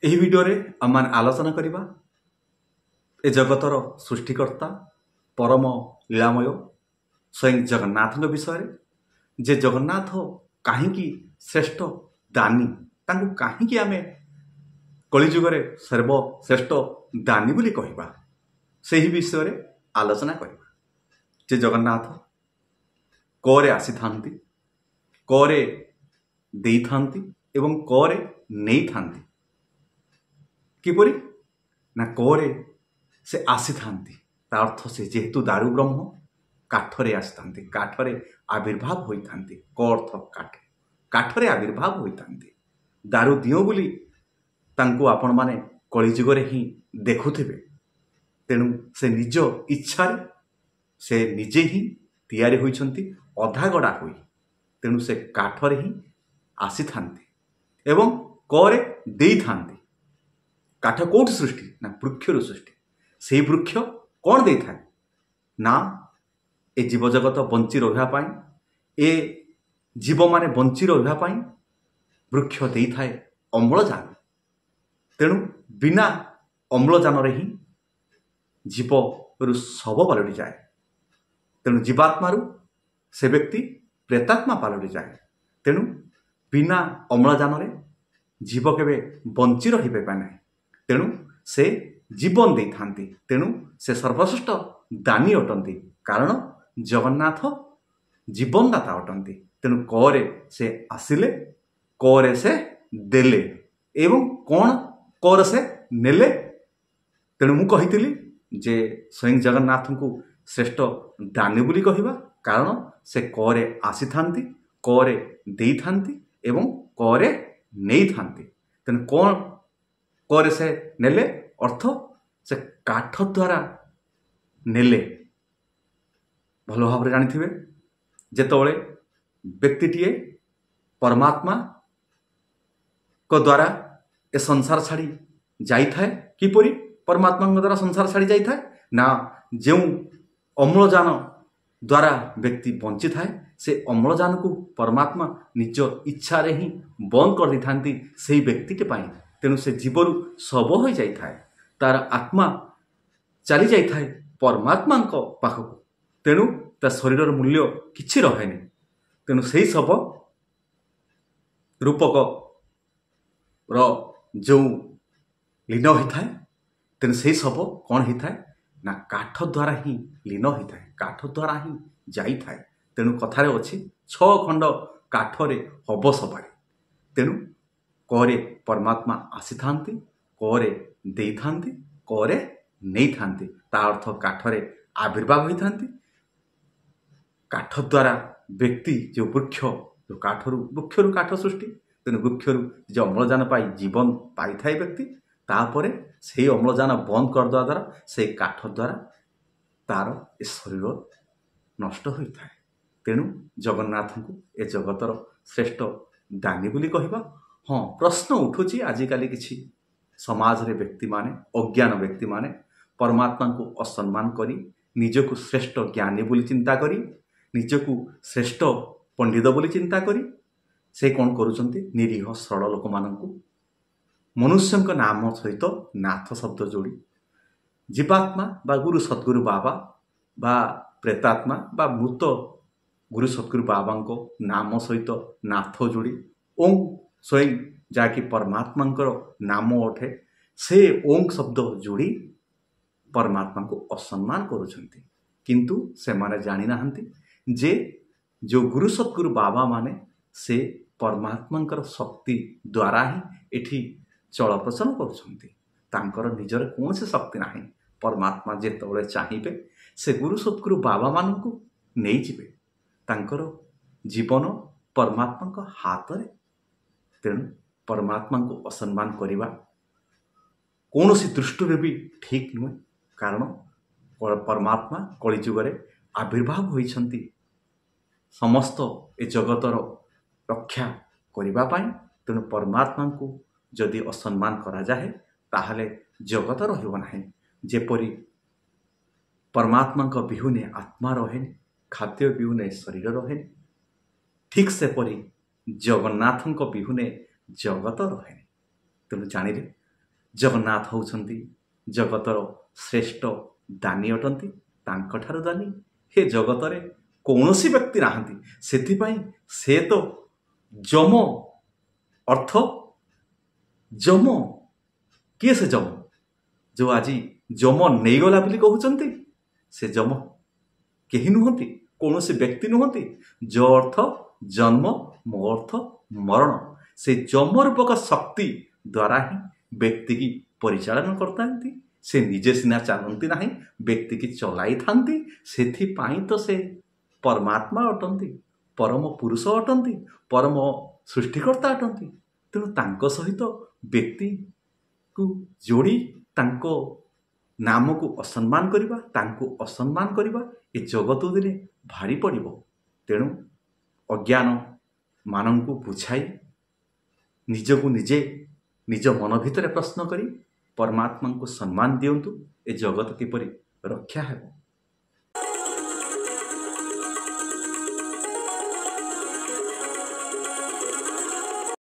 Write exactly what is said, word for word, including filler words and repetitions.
ଏହି ଭିଡ଼ିଓରେ ଆମମାନେ ଆଲୋଚନା କରିବା ଏ ଜଗତର ସୃଷ୍ଟିକର୍ତ୍ତା ପରମ ଲୀଳାମୟ ସ୍ୱୟଂ ଜଗନ୍ନାଥଙ୍କ ବିଷୟରେ, ଯେ ଜଗନ୍ନାଥ କାହିଁକି ଶ୍ରେଷ୍ଠ ଦାନୀ, ତାଙ୍କୁ କାହିଁକି ଆମେ କଳିଯୁଗରେ ସର୍ବଶ୍ରେଷ୍ଠ ଦାନୀ ବୋଲି କହିବା, ସେହି ବିଷୟରେ ଆଲୋଚନା କରିବା। ଯେ ଜଗନ୍ନାଥ କରେ ଆସିଥାନ୍ତି, କରେ ଦେଇଥାନ୍ତି ଏବଂ କରେ ନେଇଥାନ୍ତି। କିପରି ନା କରେ ସେ ଆସିଥାନ୍ତି, ତା ଅର୍ଥ ସେ ଯେହେତୁ ଦାରୁ ବ୍ରହ୍ମ, କାଠରେ ଆସିଥାନ୍ତି, କାଠରେ ଆବିର୍ଭାବ ହୋଇଥାନ୍ତି। କ ଅର୍ଥ କାଠ, କାଠରେ ଆବିର୍ଭାବ ହୋଇଥାନ୍ତି। ଦାରୁ ଦିଅ ବୋଲି ତାଙ୍କୁ ଆପଣମାନେ କଳିଯୁଗରେ ହିଁ ଦେଖୁଥିବେ। ତେଣୁ ସେ ନିଜ ଇଚ୍ଛାରେ ସେ ନିଜେ ହିଁ ତିଆରି ହୋଇଛନ୍ତି ଅଧାଗଡ଼ା ହୋଇ। ତେଣୁ ସେ କାଠରେ ହିଁ ଆସିଥାନ୍ତି ଏବଂ କରେ ଦେଇଥାନ୍ତି। କାଠ କେଉଁଠୁ ସୃଷ୍ଟି? ନା ବୃକ୍ଷରୁ ସୃଷ୍ଟି। ସେଇ ବୃକ୍ଷ କ'ଣ ଦେଇଥାଏ? ନା ଏ ଜୀବଜଗତ ବଞ୍ଚି ରହିବା ପାଇଁ, ଏ ଜୀବମାନେ ବଞ୍ଚି ରହିବା ପାଇଁ ବୃକ୍ଷ ଦେଇଥାଏ ଅମ୍ଳଜାନ। ତେଣୁ ବିନା ଅମ୍ଳଜାନରେ ହିଁ ଜୀବରୁ ଶବ ପାଲଟିଯାଏ। ତେଣୁ ଜୀବାତ୍ମାରୁ ସେ ବ୍ୟକ୍ତି ପ୍ରେତାତ୍ମା ପାଲଟିଯାଏ। ତେଣୁ ବିନା ଅମ୍ଳଜାନରେ ଜୀବ କେବେ ବଞ୍ଚି ରହିପାରିବେ ନାହିଁ। ତେଣୁ ସେ ଜୀବନ ଦେଇଥାନ୍ତି। ତେଣୁ ସେ ସର୍ବଶ୍ରେଷ୍ଠ ଦାନୀ ଅଟନ୍ତି, କାରଣ ଜଗନ୍ନାଥ ଜୀବନଦାତା ଅଟନ୍ତି। ତେଣୁ କରେ ସେ ଆସିଲେ, କରେ ସେ ଦେଲେ ଏବଂ କ'ଣ କରେ ସେ ନେଲେ। ତେଣୁ ମୁଁ କହିଥିଲି ଯେ ସ୍ୱୟଂ ଜଗନ୍ନାଥଙ୍କୁ ଶ୍ରେଷ୍ଠ ଦାନୀ ବୋଲି କହିବା, କାରଣ ସେ କରେ ଆସିଥାନ୍ତି, କରେ ଦେଇଥାନ୍ତି ଏବଂ କରେ ନେଇଥାନ୍ତି। ତେଣୁ କ'ଣ କରେ ସେ ନେଲେ? ଅର୍ଥ ସେ କାଠ ଦ୍ୱାରା ନେଲେ। ଭଲ ଭାବରେ ଜାଣିଥିବେ, ଯେତେବେଳେ ବ୍ୟକ୍ତିଟିଏ ପରମାତ୍ମାଙ୍କ ଦ୍ୱାରା ଏ ସଂସାର ଛାଡ଼ି ଯାଇଥାଏ, କିପରି ପରମାତ୍ମାଙ୍କ ଦ୍ୱାରା ସଂସାର ଛାଡ଼ି ଯାଇଥାଏ? ନା ଯେଉଁ ଅମ୍ଳଜାନ ଦ୍ୱାରା ବ୍ୟକ୍ତି ବଞ୍ଚିଥାଏ, ସେ ଅମ୍ଳଜାନକୁ ପରମାତ୍ମା ନିଜ ଇଚ୍ଛାରେ ହିଁ ବନ୍ଦ କରିଦେଇଥାନ୍ତି ସେଇ ବ୍ୟକ୍ତିଟି ପାଇଁ। ତେଣୁ ସେ ଜୀବରୁ ଶବ ହୋଇଯାଇଥାଏ, ତାର ଆତ୍ମା ଚାଲି ଯାଇଥାଏ ପରମାତ୍ମାଙ୍କ ପାଖକୁ। ତେଣୁ ତା ଶରୀରର ମୂଲ୍ୟ କିଛି ରହେନି। ତେଣୁ ସେଇ ଶବ ରୂପକର ଯେଉଁ ଲୀନ ହୋଇଥାଏ, ତେଣୁ ସେଇ ଶବ କ'ଣ ହେଇଥାଏ? ନା କାଠ ଦ୍ୱାରା ହିଁ ଲୀନ ହୋଇଥାଏ, କାଠ ଦ୍ୱାରା ହିଁ ଯାଇଥାଏ। ତେଣୁ କଥାରେ ଅଛି, ଛଅ ଖଣ୍ଡ କାଠରେ ହବ ସବାରି। ତେଣୁ କରେ ପରମାତ୍ମା ଆସିଥାନ୍ତି, କରେ ଦେଇଥାନ୍ତି, କରେ ନେଇଥାନ୍ତି। ତା ଅର୍ଥ କାଠରେ ଆବିର୍ଭାବ ହୋଇଥାନ୍ତି। କାଠ ଦ୍ୱାରା ବ୍ୟକ୍ତି ଯେଉଁ ବୃକ୍ଷ, ଯେଉଁ କାଠରୁ, ବୃକ୍ଷରୁ କାଠ ସୃଷ୍ଟି। ତେଣୁ ବୃକ୍ଷରୁ ଯେ ଅମ୍ଳଜାନ ପାଇ ଜୀବନ ପାଇଥାଏ ବ୍ୟକ୍ତି, ତାପରେ ସେଇ ଅମ୍ଳଜାନ ବନ୍ଦ କରିଦେବା ଦ୍ୱାରା ସେଇ କାଠ ଦ୍ୱାରା ତାର ଏ ଶରୀର ନଷ୍ଟ ହୋଇଥାଏ। ତେଣୁ ଜଗନ୍ନାଥଙ୍କୁ ଏ ଜଗତର ଶ୍ରେଷ୍ଠ ଦାନୀ ବୋଲି କହିବା। ହଁ, ପ୍ରଶ୍ନ ଉଠୁଛି, ଆଜିକାଲି କିଛି ସମାଜରେ ବ୍ୟକ୍ତିମାନେ, ଅଜ୍ଞାନ ବ୍ୟକ୍ତିମାନେ ପରମାତ୍ମାଙ୍କୁ ଅସମ୍ମାନ କରି ନିଜକୁ ଶ୍ରେଷ୍ଠ ଜ୍ଞାନୀ ବୋଲି ଚିନ୍ତା କରି, ନିଜକୁ ଶ୍ରେଷ୍ଠ ପଣ୍ଡିତ ବୋଲି ଚିନ୍ତା କରି ସେ କ'ଣ କରୁଛନ୍ତି? ନିରୀହ ସରଳ ଲୋକମାନଙ୍କୁ ମନୁଷ୍ୟଙ୍କ ନାମ ସହିତ ନାଥ ଶବ୍ଦ ଯୋଡ଼ି, ଜୀବାତ୍ମା ବା ଗୁରୁ ସଦ୍ଗୁରୁ ବାବା ବା ପ୍ରେତାତ୍ମା ବା ମୃତ ଗୁରୁ ସଦ୍ଗୁରୁ ବାବାଙ୍କ ନାମ ସହିତ ନାଥ ଯୋଡ଼ି, ଓಂ ସ୍ୱୟଂ ଯାହାକି ପରମାତ୍ମାଙ୍କର ନାମ ଅଟେ, ସେ ଓଂ ଶବ୍ଦ ଯୋଡ଼ି ପରମାତ୍ମାଙ୍କୁ ଅସମ୍ମାନ କରୁଛନ୍ତି। କିନ୍ତୁ ସେମାନେ ଜାଣିନାହାନ୍ତି ଯେ ଯେଉଁ ଗୁରୁ ସଦ୍ଗୁରୁ ବାବାମାନେ ସେ ପରମାତ୍ମାଙ୍କର ଶକ୍ତି ଦ୍ୱାରା ହିଁ ଏଠି ଚଳପ୍ରଚଳ କରୁଛନ୍ତି। ତାଙ୍କର ନିଜର କୌଣସି ଶକ୍ତି ନାହିଁ। ପରମାତ୍ମା ଯେତେବେଳେ ଚାହିଁବେ ସେ ଗୁରୁ ସଦ୍ଗୁରୁ ବାବାମାନଙ୍କୁ ନେଇଯିବେ। ତାଙ୍କର ଜୀବନ ପରମାତ୍ମାଙ୍କ ହାତରେ। ତେଣୁ ପରମାତ୍ମାଙ୍କୁ ଅସମ୍ମାନ କରିବା କୌଣସି ଦୃଷ୍ଟିରୁ ବି ଠିକ୍ ନୁହେଁ, କାରଣ ପରମାତ୍ମା କଳିଯୁଗରେ ଆବିର୍ଭାବ ହୋଇଛନ୍ତି ସମସ୍ତ ଏ ଜଗତର ରକ୍ଷା କରିବା ପାଇଁ। ତେଣୁ ପରମାତ୍ମାଙ୍କୁ ଯଦି ଅସମ୍ମାନ କରାଯାଏ ତାହେଲେ ଜଗତ ରହିବ ନାହିଁ। ଯେପରି ପରମାତ୍ମାଙ୍କ ବିହୁନେ ଆତ୍ମା ରହେନି, ଖାଦ୍ୟ ବିହୁନେ ଶରୀର ରହେନି, ଠିକ୍ ସେପରି ଜଗନ୍ନାଥଙ୍କ ବିହୁନେ ଜଗତ ରହେନି। ତେଣୁ ଜାଣିଲେ ଜଗନ୍ନାଥ ହେଉଛନ୍ତି ଜଗତର ଶ୍ରେଷ୍ଠ ଦାନୀ ଅଟନ୍ତି। ତାଙ୍କଠାରୁ ଦାନୀ ହେ ଜଗତରେ କୌଣସି ବ୍ୟକ୍ତି ନାହାନ୍ତି। ସେଥିପାଇଁ ସେ ତ ଯମ ଅର୍ଥ ଯମ। କିଏ ସେ ଯମ, ଯେଉଁ ଆଜି ଯମ ନେଇଗଲା ବୋଲି କହୁଛନ୍ତି? ସେ ଯମ କେହି ନୁହନ୍ତି, କୌଣସି ବ୍ୟକ୍ତି ନୁହନ୍ତି। ଜ ଅର୍ଥ ଜନ୍ମ, ମୋ ଅର୍ଥ ମରଣ। ସେ ଯମ ରୂପକ ଶକ୍ତି ଦ୍ୱାରା ହିଁ ବ୍ୟକ୍ତିକି ପରିଚାଳନା କରିଥାନ୍ତି। ସେ ନିଜେ ସିନା ଚାଲନ୍ତି ନାହିଁ, ବ୍ୟକ୍ତିକି ଚଲାଇଥାନ୍ତି। ସେଥିପାଇଁ ତ ସେ ପରମାତ୍ମା ଅଟନ୍ତି, ପରମ ପୁରୁଷ ଅଟନ୍ତି, ପରମ ସୃଷ୍ଟିକର୍ତ୍ତା ଅଟନ୍ତି। ତେଣୁ ତାଙ୍କ ସହିତ ବ୍ୟକ୍ତିକୁ ଯୋଡ଼ି ତାଙ୍କ ନାମକୁ ଅସମ୍ମାନ କରିବା, ତାଙ୍କୁ ଅସମ୍ମାନ କରିବା ଏ ଜଗତ ଦିନେ ଭାରି ପଡ଼ିବ। ତେଣୁ ଅଜ୍ଞାନ ମାନଙ୍କୁ ବୁଝାଇ, ନିଜକୁ ନିଜେ ନିଜ ମନ ଭିତରେ ପ୍ରଶ୍ନ କରି ପରମାତ୍ମାଙ୍କୁ ସମ୍ମାନ ଦିଅନ୍ତୁ, ଏ ଜଗତ କିପରି ରକ୍ଷା ହେବ।